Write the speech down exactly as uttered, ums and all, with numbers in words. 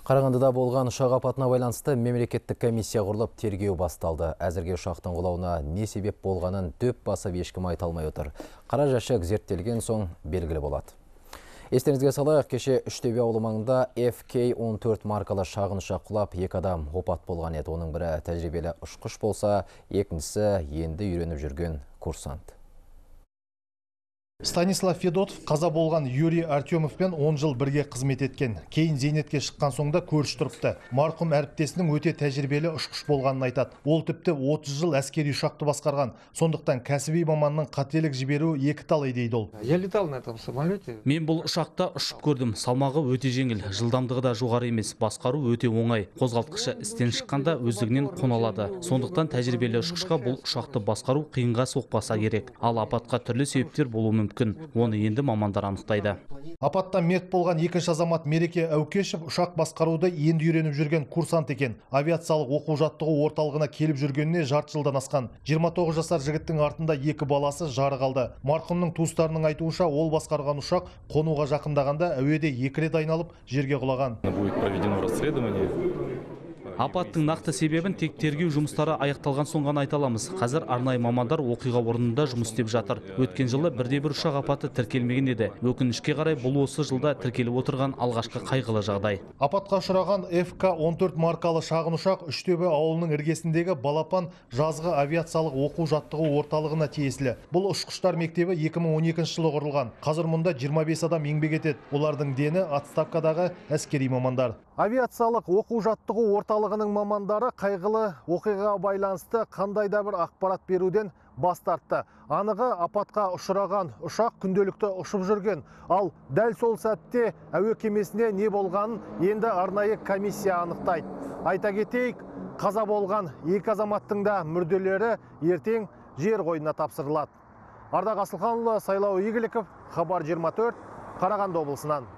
Қарағандыда болған ұшақ апатына байланысты мемлекеттік комиссия құрылып тергеу басталды. Әзірге ұшақтың құлауына не себеп болғанын дөп басып ешкім айта алмай отыр. Қара жәшік зерттелген соң белгілі болады. Естеріңізге салайық, кеше Үштөбе ауылы маңында эф кей он төрт маркалы шағын ұшақ құлап, екі адам опат болған еді. Оның бірі тәжірибелі ұшқыш болса, екіншісі енді үйреніп жүрген курсант. Станислав Федотов қаза болған Юрий Артемовпен он жыл бірге қызмет еткен. Кейін зейнетке шыққан соңда көрші тұрыпты. Марқұм әріптесінің өте тәжірибелі ұшқыш болғанын айтады. Ол тіпті отыз жыл әскери ұшақты басқарған. Сондықтан кәсіби маманның қателік жіберуі екі талай дейді ол. Я летал на этом самолете. Мен бұл ұшақта ұшып көрдім. Салмағы өте жеңіл, жылдамдығы да жоғары емес, басқару өте оңай. Қозғалтқышы істен шыққанда өздігінен қона алады. Сондықтан тәжірибелі ұшқышқа бұл ұшақты басқару қиынға соқпаса керек. Ал апатқа түрлі себептер болуы мүмкін. Оны енді мамандар анықтайды. Апаттан мерт болған екінші азамат Мереке Әукешев ұшақ басқаруды енді үйреніп жүрген курсант екен. Авиациялық оқу-жаттығу орталығына келіп жүргеніне жарты жылдан асқан. жиырма тоғыз жасар жігіттің артында екі баласы жары қалды. Марқұмның туыстарының айтуынша, ол басқарған ұшақ қонуға жақындағанда әуеде екі рет айналып жерге құлаған. Будет проведено расследование. Апаттың нақты себебін тек тергеу жұмыстары аяқталған соң ғана айта аламыз. Қазір арнайы мамандар оқиға орнында жұмыс істеп жатыр. Өткен жылы бірде бір ұшақ апаты тіркелмеген еді. Өкінішке қарай бұл осы жылда тіркеліп отырған алғашқы қайғылы жағдай. Апатқа ұшыраған эф кей он төрт маркалы шағын ұшақ Үштөбе ауылының іргесіндегі Балапан жазғы авиациялық оқу-жаттығу орталығына тиесілі. Бұл ұшқыштар мектебі екі мың он екінші жылы құрылған. Қазір мұнда жиырма бес адам еңбек етеді. Олардың дені отставкадағы әскери мамандар. Авиациялық оқу-жаттығу орталығының мамандары қайғылы оқиғаға байланысты қандай да бір ақпарат беруден бас тартты. Анығы, апатқа ұшыраған ұшақ күнделікті ұшып жүрген. Ал дәл сол сәтте әуе кемесіне не болғанын енді арнайы комиссия анықтайды. Айта кетейік, қаза болған екі азаматтың да мүрделері ертең жер қойнына тапсырылады. Ардақ Асылханұлы, Сайлау Игіліков, Хабар жиырма төрт, Қарағанды облысынан.